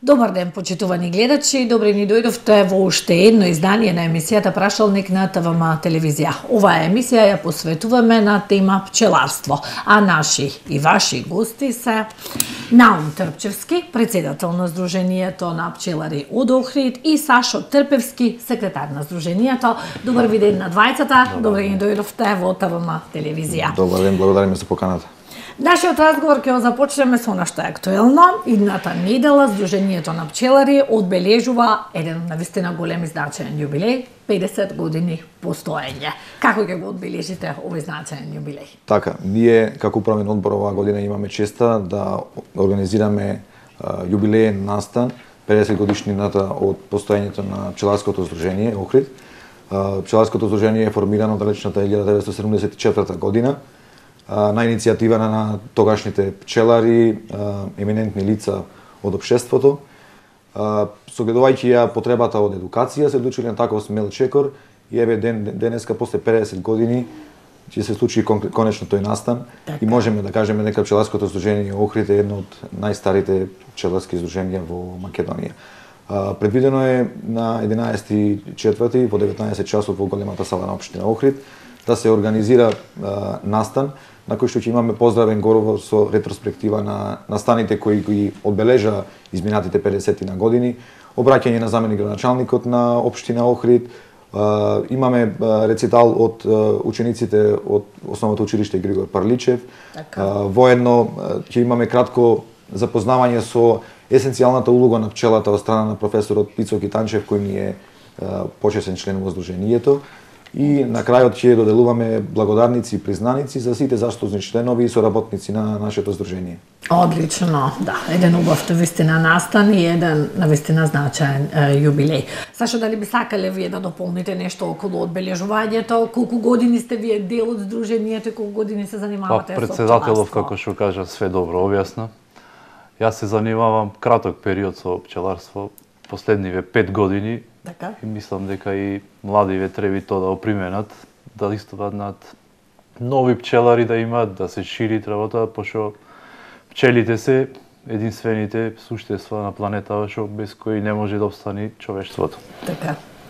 Добар ден, почитувани гледачи, добре ни дојдовте во уште едно издание на емисијата Прашалник на ТВМ телевизија. Оваа емисија ја посветуваме на тема пчеларство, а наши и ваши гости се Наум Трпчевски, председател на Сдруженијето на пчелари од Охрид, и Сашо Трпевски, секретар на Сдруженијето. Добар ви ден на двајцата, добре ни дојдовте во ТВМ телевизија. Добар ден, благодариме за поканата. Нашиот разговор ќе го започнеме со она што е актуелно. Идната недела Сдруженијето на пчелари одбележува еден навистина голем и значаен јубилеј, 50 години постоење. Како ќе го одбележите овој значаен јубилеј? Така, ние како управен одбор оваа година имаме честа да организираме јубилеен настан 50 годишнината од постоењето на пчеларското здружение Охрид. Пчеларското здружение е формирано далечната 1974 година на иницијатива на тогашните пчелари, еминентни лица од општеството. Согледувајќи ја потребата од едукација, се одлучили на таков смел чекор и еве денеска после 50 години ќе се случи конечно тој настан. И можеме да кажеме дека пчеларското здружение Охрид е едно од најстарите пчеларски здруженија во Македонија. Предвидено е на 11.4. во 19 часот во големата сала на општина Охрид да се организира настан на кој што ќе имаме поздравен говор со ретроспектива на настаните кои ги одбележа изминатите 50 години, обраќање на заменик градоначалникот на општина Охрид, имаме рецитал од учениците од основното училиште Григор Парличев. Воедно ќе имаме кратко запознавање со есенцијалната улога на пчелата од страна на професорот Пицо Китанчев, кој ни е почесен член во Сдруженијето. И на крајот ќе доделуваме благодарници и признаници за сите заслужни членови и соработници на нашето здружение. Одлично, да, еден убав навистина настан и еден навистина значаен јубилеј. Сашо, дали би сакале вие да дополните нешто околу одбележувањето? Колку години сте вие дел од здруженијето и колку години се занимавате со председателов, како што кажа, све добро објасна. Јас се занимавам краток период со пчеларство, последниве 5 години. Така? И мислам дека и младиве треба тоа да оприменат, да истопаднат нови пчелари да имаат, да се шири работа, пошто пчелите се единствените суштества на планетава што без кои не може да обстани човештвото.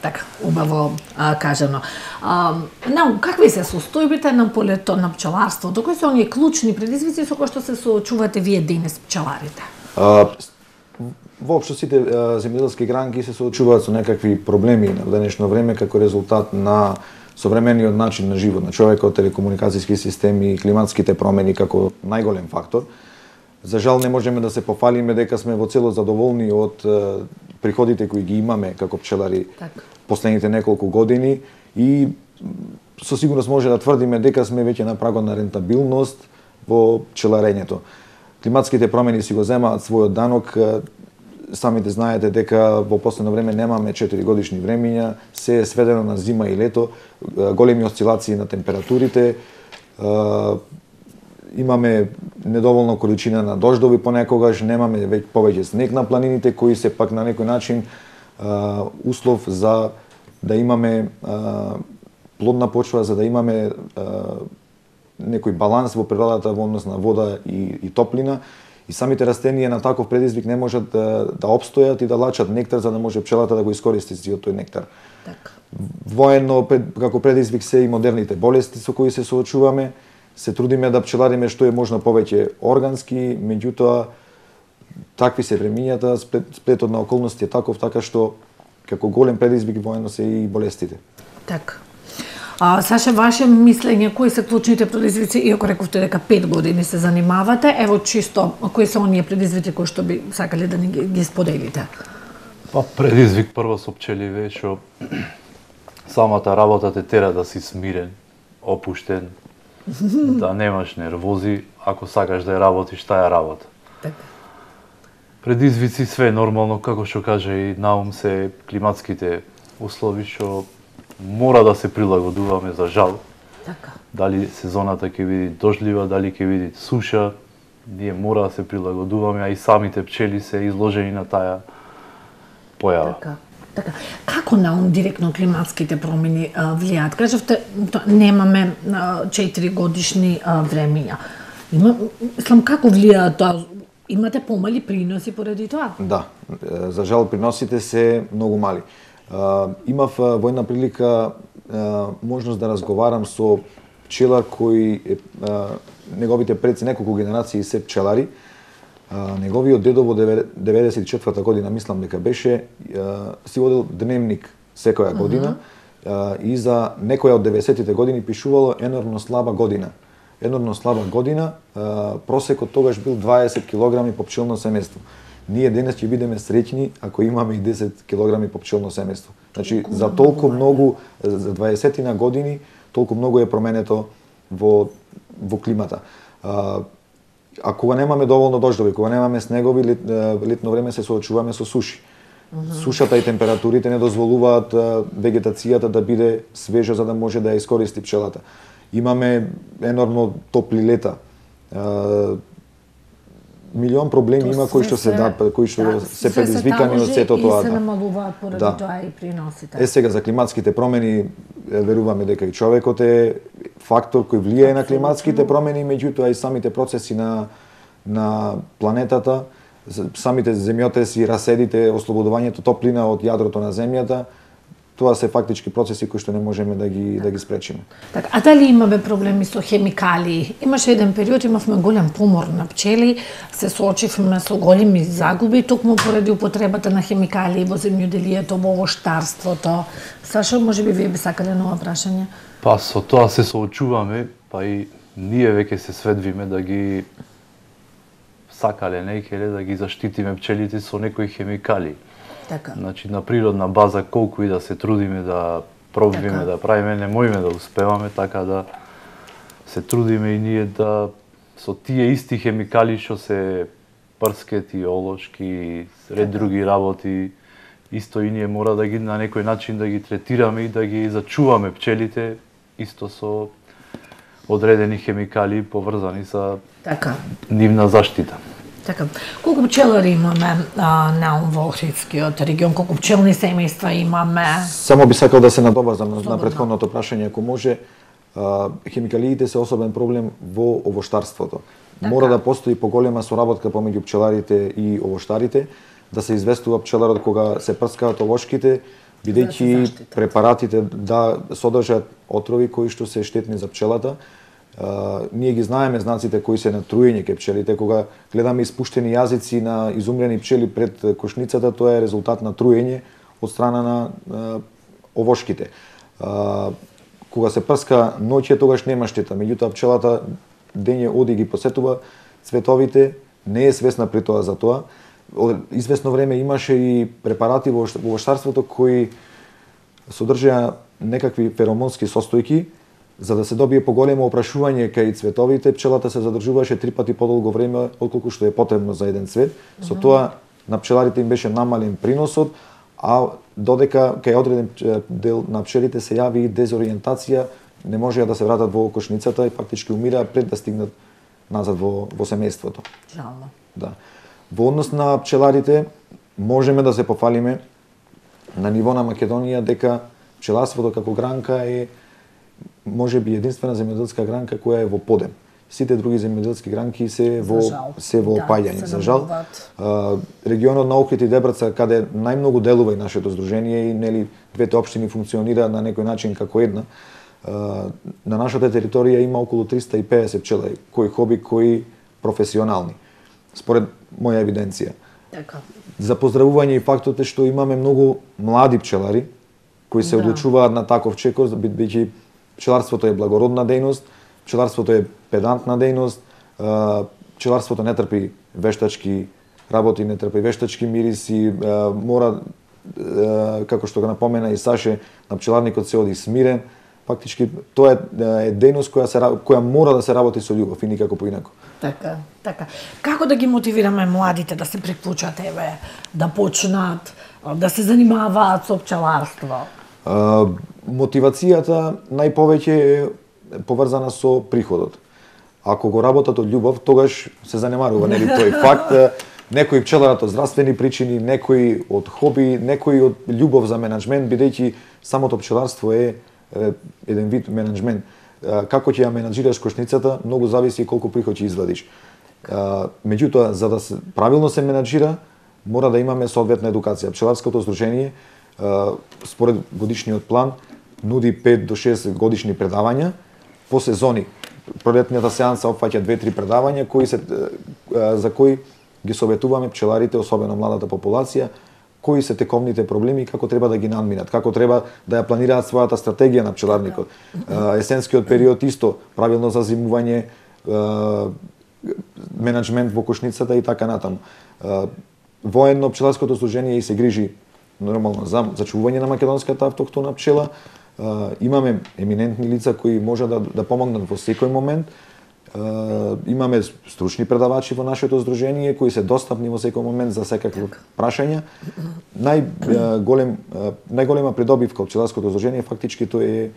Така, убаво кажано. Какви се состојбите на полето на пчеларството? Кои се оние клучни предизвици со кои што се соочувате вие денес пчеларите? Воопшто сите земјоделски гранки се соочуваат со некакви проблеми на денешно време како резултат на современиот начин на живот на човекот, телекомуникацијски системи, климатските промени како најголем фактор. За жал не можеме да се пофалиме дека сме во цело задоволни од приходите кои ги имаме како пчелари последните неколку години и со сигурност може да тврдиме дека сме веќе на прагот на рентабилност во пчеларењето. Климатските промени си го земаат својот данок. Самите знаете дека во последно време немаме 4 годишни времиња, се е сведено на зима и лето, големи осцилации на температурите, имаме недоволна количина на дождови понекогаш, немаме повеќе снег на планините, кои се пак на некој начин услов за да имаме плодна почва, за да имаме некој баланс во природата во однос на вода и топлина. И самите растенија на таков предизвик не можат да обстојат и да лачат нектар за да може пчелата да го искористи сиот тој нектар. Воедно како предизвик се и модерните болести со кои се соочуваме. Се трудиме да пчелариме што е можно повеќе органски, меѓутоа такви се времињата, сплетот на околности е таков, така што како голем предизвик воедно се и болестите. Така. Саша, ваше мислење, кои се клучните предизвици, иако рековте дека 5 години се занимавате, ево чисто, кои се оние предизвици кои што би сакале да ги споделите? Предизвик прво со пчеливе, што самата работа те тера да си смирен, опуштен, да немаш нервози, ако сакаш да ја работиш, таа работа. Предизвици све нормално, како што кажа и Наум, се климатските услови што мора да се прилагодуваме, за жал. Дали сезоната ќе биде дождлива, дали ќе биде суша, ние мора да се прилагодуваме, а и самите пчели се изложени на таа појава. Така. Како Наум директно климатските промени влијаат? Кажавте, немаме 4 годишни времиња. Мислам, како влијаат тоа Имате помали приноси поради тоа? Да, за жал приносите се многу мали. Имав во една прилика можност да разговарам со пчелар кој неговите предци, неколку генерации се пчелари. Неговиот дедо во 94-та година, мислам дека беше, си водел дневник секоја година и за некоја од 90-тите години пишувало енормно слаба година. Енормно слаба година, просекот тогаш бил 20 килограми по пчелно семејство. Ние денес ќе бидеме среќни ако имаме и 10 килограми по пчелно семејство. Значи, за толку многу, за 20 години, толку многу е променето во климата. А кога немаме доволно дождови, кога немаме снегови, летно време се соочуваме со суши. Сушата и температурите не дозволуваат вегетацијата да биде свежа за да може да ја искористи пчелата. Имаме енормно топли лета. Милион проблеми има кои што се предизвикани од сето тоа. И се намалуваат поради тоа и приносите. Сега за климатските промени веруваме дека и човекот е фактор кој влијае на климатските промени, меѓутоа и самите процеси на планетата, самите земјотреси, раседите, ослободувањето топлина од јадрото на земјата, тоа се фактички процеси кои што не можеме да ги спречиме. Така, а дали имаме проблеми со хемикалии? Имаше еден период, имавме голем помор на пчели, се соочивме со големи загуби токму поради употребата на хемикалии во земјоделието, во овоштарството. Сашо, можеби вие би сакале ново прашање? Па со тоа се соочуваме, па и ние веќе се сведвиме да ги сакале некеле да ги заштитиме пчелите со некои хемикалии. Така. Значи на природна база колку и да се трудиме да пробиме, така, да правиме, не можеме да успеваме, така да се трудиме и ние да со тие исти хемикали што се прскети, олошки, ред други работи, исто и ние мора да ги на некој начин да ги третираме и да ги зачуваме пчелите исто со одредени хемикали поврзани со така нивна заштита. Така. Колку пчелари имаме на во Охридскиот регион, колку пчелни семејства имаме? Само би сакал да се надоврзам на претходното прашање, ако може. Хемикалиите се особен проблем во овоштарството. Така. Мора да постои поголема соработка помеѓу пчеларите и овоштарите, да се известува пчеларот кога се прскаат овошките, бидејќи препаратите да содржат отрови кои што се штетни за пчелата. Ние ги знаеме знаците кои се на труење кај пчелите, кога гледаме испуштени јазици на изумрени пчели пред кошницата, тоа е резултат на труење од страна на овошките. Кога се прска ноќе, тогаш нема штета, меѓутоа пчелата дење оди ги посетува цветовите, не е свесна при тоа за тоа. Известно време имаше и препарати во овоштарството кои содржаа некакви феромонски состојки. За да се добие поголемо опрашување кај цветовите, пчелата се задржуваше 3 пати подолго време отколку што е потребно за еден цвет. Со тоа на пчеларите им беше намален приносот, а додека кај одреден дел на пчелите се јави и дезориентација, не можеа да се вратат во кошницата и фактички умираа пред да стигнат назад во семејството. Жално. Да. Во однос на пчеларите можеме да се пофалиме на ниво на Македонија дека пчеларството како гранка е може би единствена земјоделска гранка која е во подем. Сите други земјоделски гранки се во опаѓање. За жал, регионот на Охрид и Дебраца, каде најмногу делува и нашето здружение и нели двете општини функционираат на некој начин како една, на нашата територија има околу 350 пчелари, кои хоби, кои професионални, според моја евиденција. Така. За поздравување и фактот е што имаме многу млади пчелари кои се одлучуваат на таков чекор, бидејќи пчеларството е благородна дејност, пчеларството е педантна дејност, пчеларството не трпи вештачки работи, не трпи вештачки мириси, мора, како што го напомена и Саше, на пчеларникот се оди смирен. Фактички тоа е дејност која мора да се работи со љубов и никако поинако. Така, така. Како да ги мотивираме младите да се приклучат, да почнат, да се занимаваат со пчеларство? Мотивацијата најповеќе е поврзана со приходот. Ако го работат од љубов, тогаш се занемарува, нели тој факт. Некои пчеларат од здравствени причини, некои од хоби, некои од љубов за менаџмент, бидејќи самото пчеларство е еден вид менаџмент. Како ќе ја менаџираш кошницата, многу зависи колку приход ќе извадиш. Меѓутоа, за да се правилно се менаџира, мора да имаме соодветна едукација. Пчеларското здружение според годишниот план нуди 5 до 6 годишни предавања по сезони. Пролетниот сеанса опфаќа 2-3 предавања за кои ги советуваме пчеларите, особено младата популација, кои се тековните проблеми и како треба да ги надминат, како треба да ја планираат својата стратегија на пчеларникот. Есенскиот период исто, правилно зазимување, менеджмент во кошницата и така натаму. Военно пчеларското здружение и се грижи нормално за зачувување на македонската автохтона пчела. Имаме еминентни лица кои може да помогнат во секој момент. Имаме стручни предавачи во нашето здружение кои се достапни во секој момент за секакви прашања. Најголема придобивка од пчеларското здружение фактички тоа е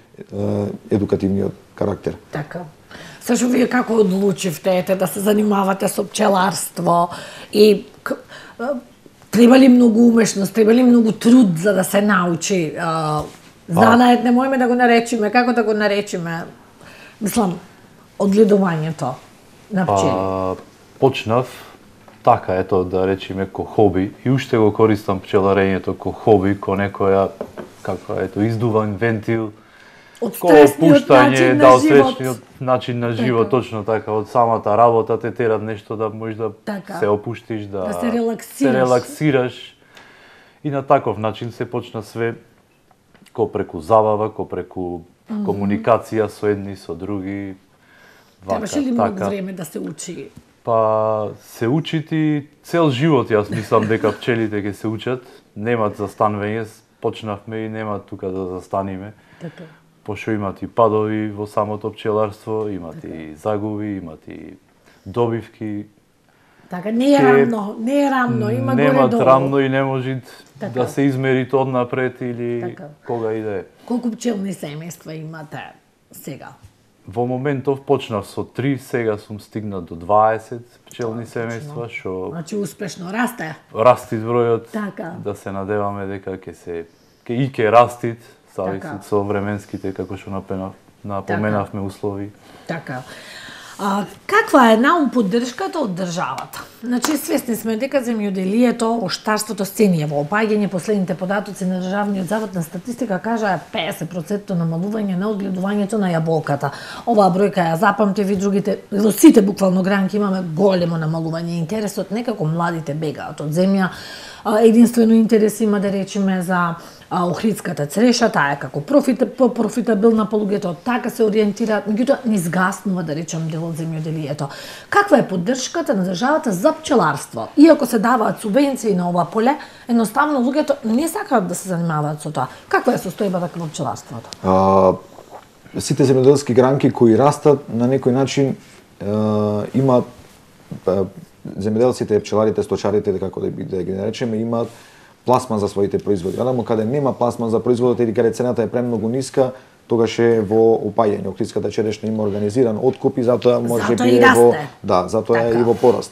едукативниот карактер. Така. Сашо, вие како одлучивте да се занимавате со пчеларство и треба ли многу умешност, треба ли многу труд за да се научи занает, не можеме да го наречеме, како да го наречеме? Мислам, одгледувањето на пчели. Почнав така, ето да речеме ко хоби и уште го користам пчеларењето ко хоби, ко некоја издуван вентил, од стресниот начин на живот. Начин на живот, точно така, од самата работа те терат нешто да можеш да се опуштиш, да се релаксираш. И на таков начин се почна све ко преку забава, ко преку комуникација со едни со други. Требаше ли многу време да се учи? Па се учити цел живот, јас мислам дека пчелите ќе се учат, немат застанување, почнавме и нема тука да застаниме. Така. Пошто имат и падови во самото пчеларство, имат и загуби, имат и добивки. Така, не е рамно, има горе-долу. Немат рамно и не може да се измери тоа однапред или кога и да е. Колку пчелни семејства имате сега? Во моментов почнав со 3, сега сум стигнат до 20 пчелни семејства, што Значи успешно расте. Расти бројот, така. Да се надеваме дека ќе растит, зависи со временските, како што напоменавме услови. Така. Каква е наум поддршката од државата? Значи, свесни сме дека земјоделието, оштарството сцени во опаѓање. Последните податоци на Државниот завод на статистика кажа 50% намалување на одгледувањето на јаболката. Оваа бројка ја запамтив и другите, во сите буквално гранки имаме големо намалување. Интересот некако младите бегаат од земја. Единствено интерес има да речеме за охридската цреша, таа е како профитабилна по луѓето, така се ориентираат, меѓутоа не изгаснува да речем дел од земјоделието. Каква е поддршката на државата за пчеларство? Иако се даваат субвенции на ова поле, едноставно луѓето не сакаат да се занимаваат со тоа. Каква е состојбата во пчеларството? Сите земјоделски гранки кои растат на некој начин имаат земјоделците, пчеларите, сточарите, како да ги наречеме, имаат пласман за своите производи. Адамо каде нема пласман за производот или каде цената е премногу ниска, тогаш е во опаѓање. Охридската черешна има организиран откуп и затоа може би е во затоа е и во пораст.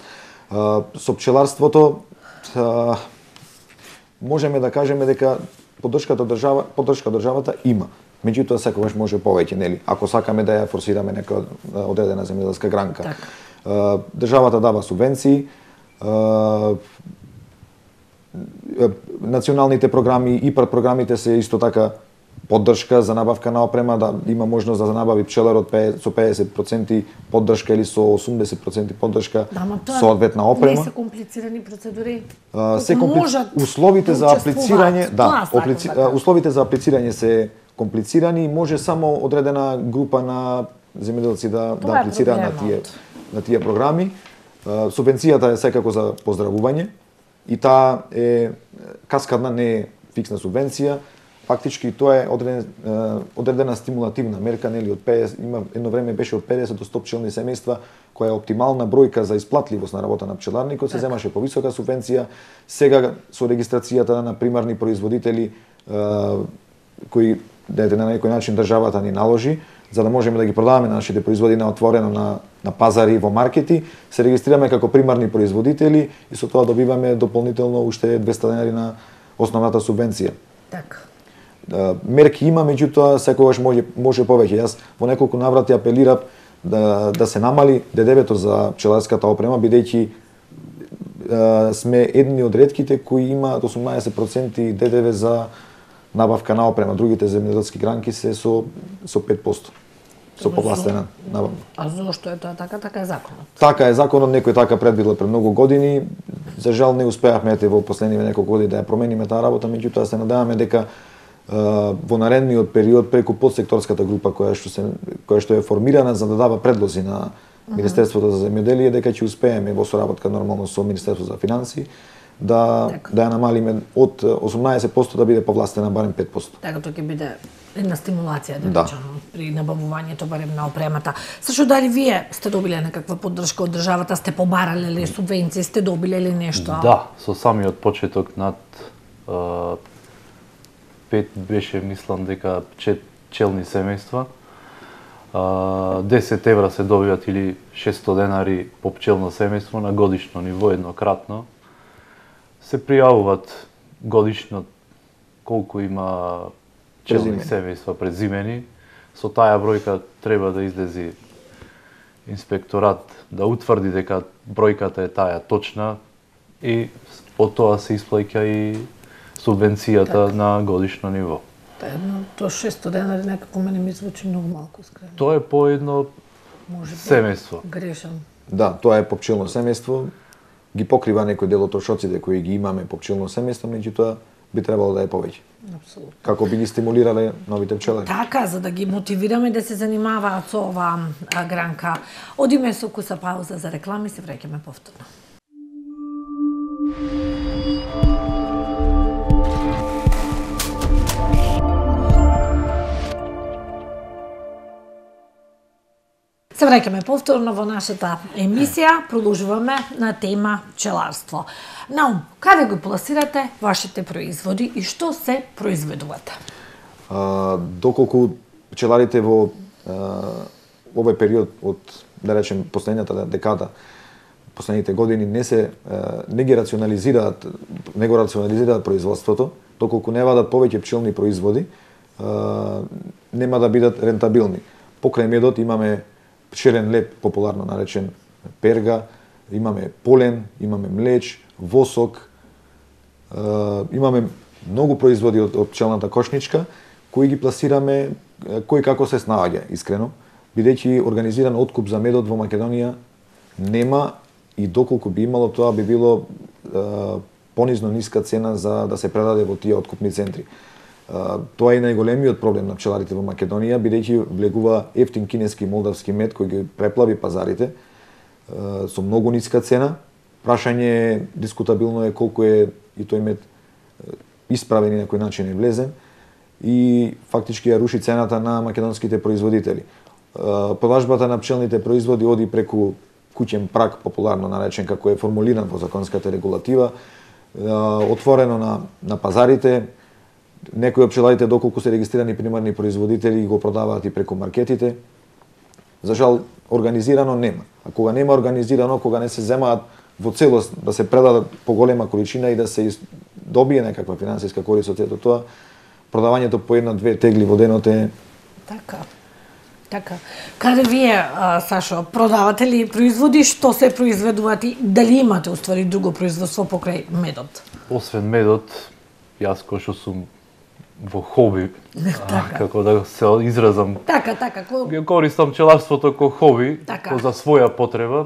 Со пчеларството можеме да кажеме дека поддршка државата има. Меѓутоа секогаш може повеќе, нели? Ако сакаме да ја форсираме нека одредена земјоделска гранка. Државата дава субвенции, националните програми, ИПАР програмите се исто така поддршка за набавка на опрема, да има можност да набави пчеларот со 50% поддршка или со 80% поддршка соодветна опрема. Не се комплицирани процедури. Условите за аплицирање, условите за аплицирање се комплицирани и може само одредена група на земјоделци да аплицираат на тие програми. Субвенцијата е секако за поздравување и таа е каскадна, не е фиксна субвенција. Фактички тоа е одредена стимулативна мерка, нели, од 50, има едно време беше од 50 до 100 пчелни семејства, која е оптимална бројка за исплатливост на работа на пчеларникот, се земаше повисока субвенција. Сега со регистрацијата на примарни производители кои на некој начин државата ни наложи, за да можеме да ги продаваме нашите производи на отворено на пазари во маркети, се регистрираме како примарни производители и со тоа добиваме дополнително уште 200 денари на основната субвенција. Така. Мерки има, меѓутоа секогаш може повеќе. Јас во неколку наврати апелирав да се намали ДДВ-то за пчеларската опрема, бидејќи сме едни од ретките кои имаат 18% ДДВ за набавка на опрема. Другите земјоделски гранки се со 5%. Со повластена набавка. А зошто е тоа така? Така е законот. Така е законот, некој така предвидел пред многу години. За жал не успеавме во последниве неколку години да ја промениме таа работа, меѓутоа се надеваме дека во наредниот период преку подсекторската група која што е формирана за да дава предлози на Министерството за земјоделие, дека ќе успееме во соработка нормално со Министерството за финансии да ја намалиме од 18% да биде повластена барем 5%. Така тоа ќе биде една стимулација при набавувањето барем на опремата. Сашо, дали вие сте добиле некаква поддршка од државата, сте побарале ли субвенции, сте добиле ли нешто? Да, со самиот почеток над 5 беше, мислам дека пчелни семејства. 10 евра се добиват или 600 денари по пчелно семејство на годишно ниво еднократно. Се пријавуваат годишно колку има пчелни семејства презимени. Со таа бројка треба да излези инспекторат да утврди дека бројката е таа точна и по тоа се исплаќа и субвенцијата на годишно ниво. Тоа 600 денари некако мене ми звучи многу малку, искрено. Тоа е по едно семејство. Грешам. Да, тоа е по пчелно семејство. Ги покрива некој дел од трошоците кои ги имаме по пчелно семејство, меѓутоа би требало да е повеќе. Апсолутно. Како би ги стимулирале новите пчелари. Така, за да ги мотивираме да се занимаваат со оваа гранка. Одиме со куса пауза за реклами, се враќаме повторно. Се враќаме повторно во нашата емисија, продолжуваме на тема пчеларство. Наум, каде го пласирате вашите производи и што се произведувате? Доколку пчеларите во овој период од, да речем, последната декада, последните години не го рационализираат производството, доколку не вадат повеќе пчелни производи, нема да бидат рентабилни. Покрај медот имаме пчелен леп, популарно наречен перга, имаме полен, имаме млеч, восок, имаме многу производи од пчелната кошничка, кои ги пласираме кој како се снаоѓа, искрено, бидејќи организиран откуп за медот во Македонија нема и доколку би имало, тоа би било понизно ниска цена за да се предаде во тие откупни центри. Тоа е најголемиот проблем на пчеларите во Македонија, бидејќи влегува ефтин кинески и молдавски мед кој ги преплави пазарите со многу ниска цена. Прашање дискутабилно е колку е и тој мед исправен и на кој начин е влезен и фактички ја руши цената на македонските производители. Продажбата на пчелните производи оди преку куќен праг, популарно наречен како е формулиран во законската регулатива, отворено на пазарите. Некои од пчеларите, доколку се регистрирани примарни производители, го продаваат и преку маркетите. За жал, организирано нема. А кога нема организирано, кога не се земаат во целост да се предадат по голема количина и да се добие некаква финансиска корист од сето тоа, продавањето по една-две тегли во денот е... Така. Каде вие, Сашо, продавате ли производи, што се произведуваат и дали имате уствари друго производство покрај медот? Освен медот, јас кој што сум во хоби, како да се изразам. Така. Го користам пчеларството како хоби, за своја потреба,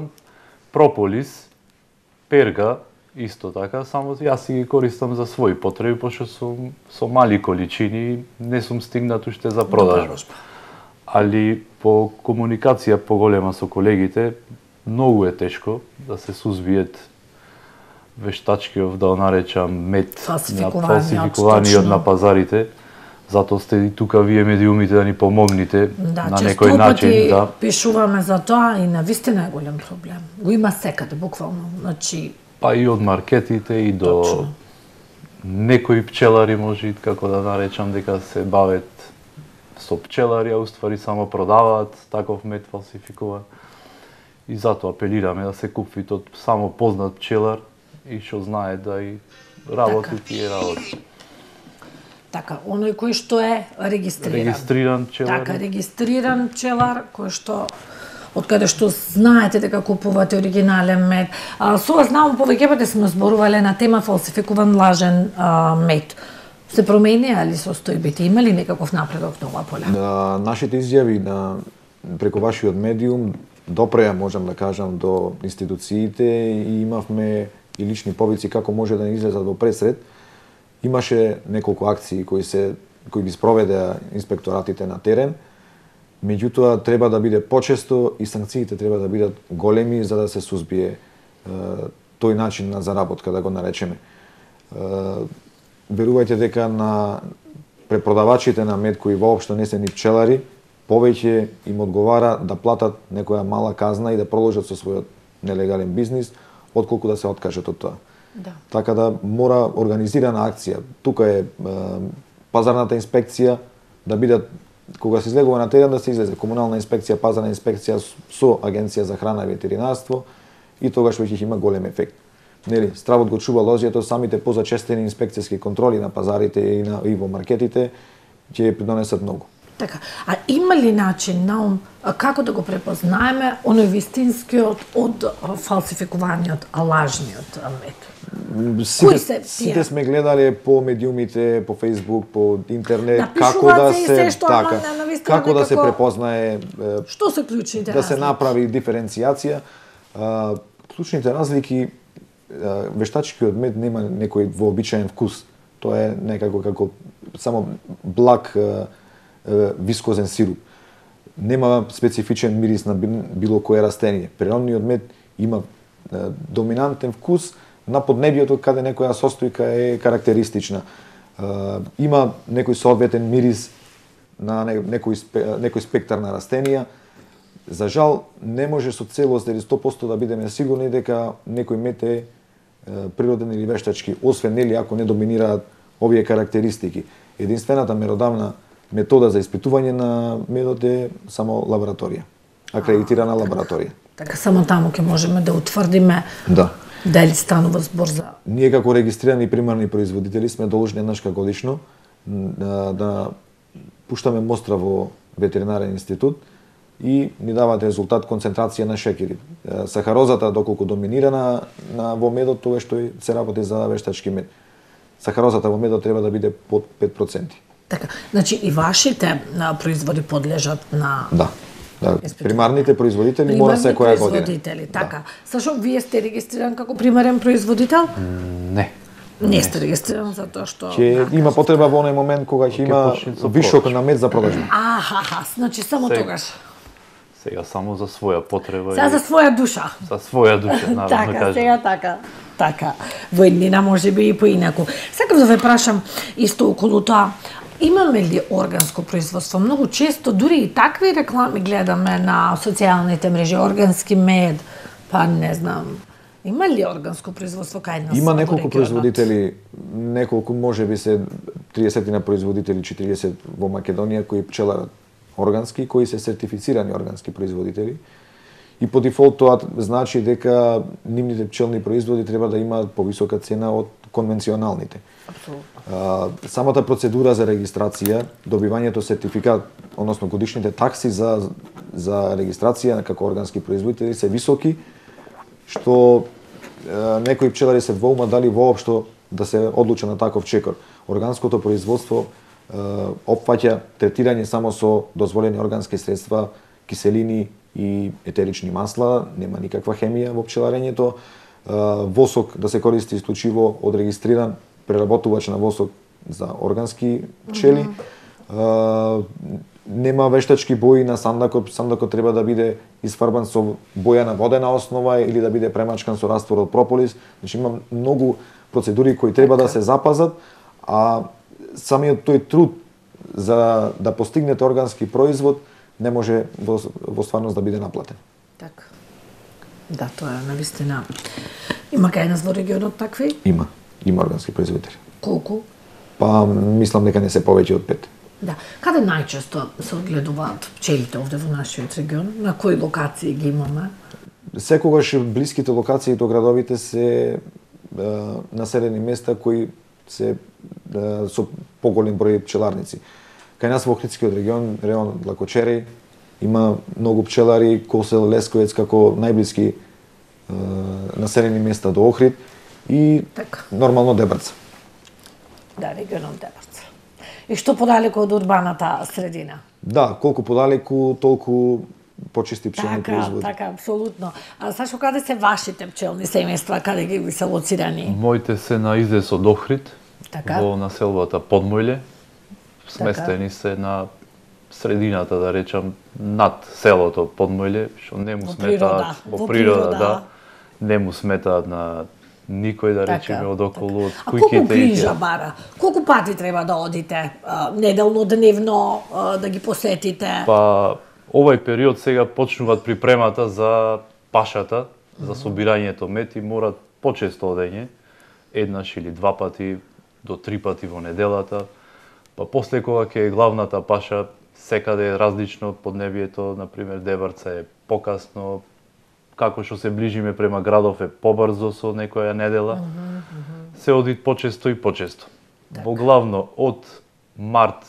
прополис, перга, исто така, само јас си ги користам за своји потреби, пошто сум со мали количини, не сум стигнат уште за продажба. Али по комуникација поголема со колегите, многу е тешко да се сузбиет вештачкиот, да го наречам, мед на фалсификуваниот на пазарите. Затоа сте и тука вие медиумите да ни помогнете на некој начин. Да, пишуваме за тоа и навистина е голем проблем. Го има секаде, буквално. Значи... Па и од маркетите и до некои пчелари, може како да наречам, дека се бават со пчелари, а уствари само продаваат таков мед фалсификуван. И затоа апелираме да се купи од само познат пчелар и што знае да и работи тие работи. Така, оној кој што е регистриран. Регистриран пчелар. Така, регистриран пчелар кој што од каде што знаете дека купувате оригинален мед. Сега знам повеќе пати сме зборувале на тема фалсификуван лажен мед. Се променија ли состојбите? Има ли некаков напредок на ова поле? Нашите изјави преку вашиот медиум допреа, можам да кажам, до институциите и имавме и лични повици како може да не излезат во пресред. Имаше неколку акции кои би спроведеа инспекторатите на терен, меѓутоа треба да биде почесто и санкциите треба да бидат големи за да се сузбие тој начин на заработка, да го наречеме. Верувајте дека на препродавачите на мед кои воопшто не се ни пчелари, повеќе им одговара да платат некоја мала казна и да продолжат со својот нелегален бизнис, отколку да се откажат од тоа. Да. Така да мора организирана акција. Тука е пазарната инспекција да бидат, кога се излегува на терен, да се излезе комунална инспекција, пазарна инспекција со Агенција за храна и ветеринарство и тогаш веќе има голем ефект. Нели, стравот го чува лозјето, самите позачестени инспекцијски контроли на пазарите и во маркетите ќе придонесат многу. Така, а има ли начин наум како да го препознаеме оној вистинскиот од фалсификуваниот, лажниот мед? Сите сме гледале по медиумите, по Facebook, по интернет, како да се препознае, што се клучните да се направи диференцијација. Клучните разлики, вештачкиот мед нема некој вообичаен вкус. Тоа е некако како само благ вискозен сируп. Нема специфичен мирис на било кое растение. Природниот мед има доминантен вкус на поднебјето каде некоја состојка е карактеристична. Има некој соодветен мирис на некој спектар на растенија. За жал, не може со целост или 100% да бидеме сигурни дека некој мед е природен или вештачки, освен нели ако не доминираат овие карактеристики. Единствената меродавна метода за испитување на медот е само лабораторија, акредитирана лабораторија. Така само таму ќе можеме да утврдиме дали станува збор за... Ние како регистрирани примарни производители сме должни еднашка годишно да пуштаме мостра во ветеринарен институт и ни даваат резултат концентрација на шеќери. Сахарозата доколку доминира во медот, тоа што се работи за вештачки мед. Сахарозата во медот треба да биде под 5%. Така, значи и вашите производи подлежат на... Да. Примарните производители мора секоја година. Така. Сашо, вие сте регистриран како примарен производител? Не. Не сте регистриран затоа што... Ќе има потреба во оној момент кога ќе има вишок на мед за продажба. Значи само тогаш. Сега само за своја потреба. Сега за своја душа. За своја душа, наравно така, кажем. Сега така. Во еднина може би и поинаку. Сакам да ве прашам исто околу тоа. Имаме ли органско производство? Многу често, дури и такви реклами гледаме на социјалните мрежи, органски мед, па не знам. Има ли органско производство кај нас? Има неколку производители, може би се 30 на производители, 40 во Македонија кои пчеларат органски, кои се сертифицирани органски производители. И по дефолт тоа значи дека нивните пчелни производи треба да имаат повисока цена од конвенционалните. Апсолутно. Самата процедура за регистрација, добивањето сертификат, односно годишните такси за регистрација како органски производители се високи, што некои пчелари се двоума дали воопшто да се одлучат на таков чекор. Органското производство опфаќа третирање само со дозволени органски средства, киселини и етерични масла, нема никаква хемија во пчеларењето. Восок да се користи исклучиво од регистриран преработувач на восок за органски пчели. Нема вештачки бои на сандакот. Сандакот треба да биде изфарбан со боја на водена основа или да биде премачкан со раствор од прополис. Значи има многу процедури кои треба да се запазат, а самиот тој труд за да постигнете органски производ не може во стварност да биде наплатен. Така. Да, тоа е навистина. Има кај нас во регионот такви? Има органски производители. Колку? Па мислам дека не се повеќе од 5. Да. Каде најчесто се одгледуваат пчелите овде во нашиот регион? На кои локации ги имаме? Секогаш блиските локации до градовите се населени места кои се со поголем број пчеларници. Кај нас во Охридскиот регион, район Лакочери, има многу пчелари, Косел, Лесковец како најблиски населени места до Охрид и нормално Дебрца. Да, регионот Дебрца. И што подалеку од урбаната средина? Да, колку подалеку, толку почисти пчелни производи. Така, апсолутно. А Сашо, каде се вашите пчелни семејства, каде ги се лоцирани? Моите се на излез од Охрид, во населбата Подмојле. Сместени се на средината, да речам, над селото Подмојле, што не му сметаат во природа, не му сметаат на никој, да речеме, од околу, од кујките. А колку грижа бара? Колку пати треба да одите? Неделно, дневно, да ги посетите? Па, овој период сега почнуваат припремата за пашата, за собирањето мед и морат почесто одење, еднаш или два пати до 3 пати во неделата. Па после кога ќе е главната паша, секаде е различно поднебието, например Дебрца е покасно, како што се ближиме према градов е побрзо со некоја недела, се оди почесто и почесто. Во главно од март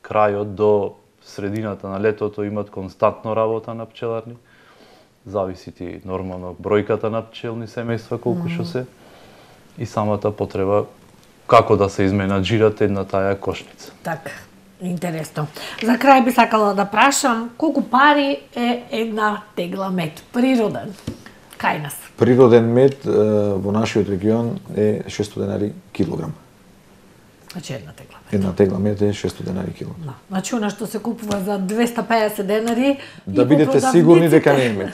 крајот до средината на летото имат константно работа на пчеларни. Зависи ти нормално бројката на пчелни семејства колку што се и самата потреба како да се изменаџират една таа кошница. Така, интересно. За крај би сакала да прашам колку пари е една тегла мед природен кај нас? Природен мед во нашиот регион е 600 денари килограм. Значи една тегла мед. Една тегла мед е 600 денари килограм. Да. Значи она што се купува за 250 денари да бидете сигурни дека не е мед.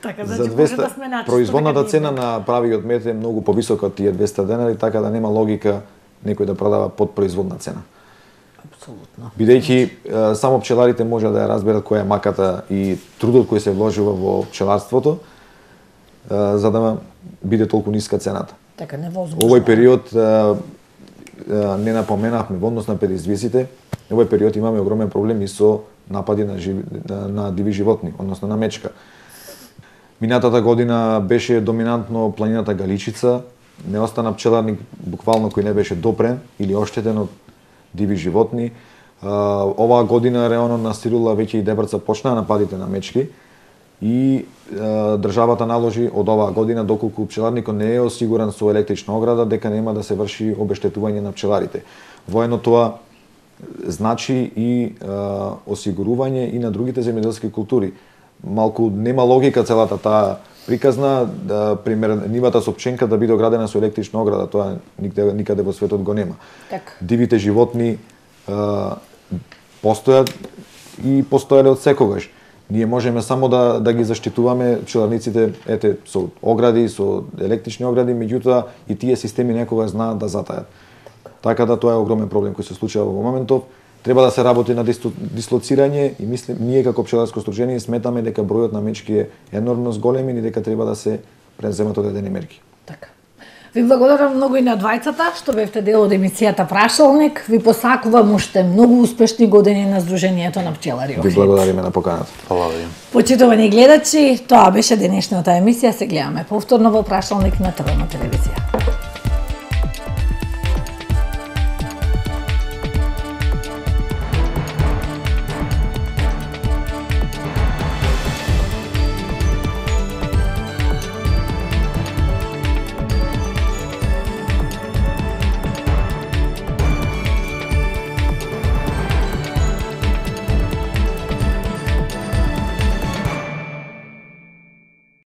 Така, значи, за 200 да производната цена на правиот мед е многу повисока од тие 200 денари, така да нема логика некој да продава под производна цена. Апсолутно. Бидејќи само пчеларите може да ја разберат која е маката и трудот кој се вложува во пчеларството, за да биде толку ниска цената. Така, невозможно. Овој период не напоменавме во однос на предизвиците, овој период имаме огромен проблем и со напади на диви животни, односно на мечка. Минатата година беше доминантно планината Галичица, не остана пчеларник буквално кој не беше допрен или оштетен од диви животни. Оваа година реално настирила веќе и Дебрца почнаа нападите на мечки и државата наложи од оваа година доколку пчеларникот не е осигуран со електрична ограда дека нема да се врши обештетување на пчеларите. Воедно тоа значи и осигурување и на другите земјоделски култури. Малку нема логика целата таа приказна, пример нивата со пченка да биде оградена со електрична ограда, тоа никаде во светот го нема. Так. Дивите животни постојат и постоеле од секогаш. Ние можеме само да ги заштитуваме пчеларниците со огради, со електрични огради, меѓутоа и тие системи некогаш знаат да затајат. Така да тоа е огромен проблем кој се случува во моментов. Треба да се работи на дислоцирање и мислим, ние како пчеларско сдружение сметаме дека бројот на мечки е енормно зголемен и дека треба да се преземат одредени мерки. Така. Ви благодарам многу и на двајцата што бевте дел од емисијата Прашалник. Ви посакувам уште многу успешни години на Сдруженијето на пчелари. Ви благодариме на поканата. Благодарам. Почитувани гледачи, тоа беше денешната емисија. Се гледаме повторно во Прашалник на ТВ телевизија.